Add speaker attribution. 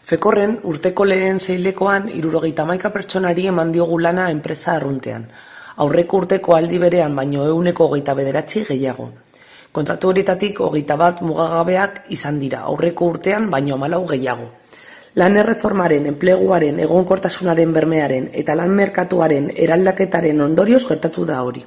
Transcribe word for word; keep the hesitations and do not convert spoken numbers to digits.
Speaker 1: Fekorren urteko lehen seihilekoan hirurogeita hamaika pertsonari eman diogu lana enpresa arruntean. Aurreko urteko aldi berean baino ehuneko hogeita bederatzi gehiago. Kontratu horietatik hogeita bat mugagabeak izan dira, aurreko urtean baino hamalau gehiago. Lan erreformaren, enpleguaren, egonkortasunaren bermearen eta lan merkatuaren eraldaketaren ondorioz gertatu da hori.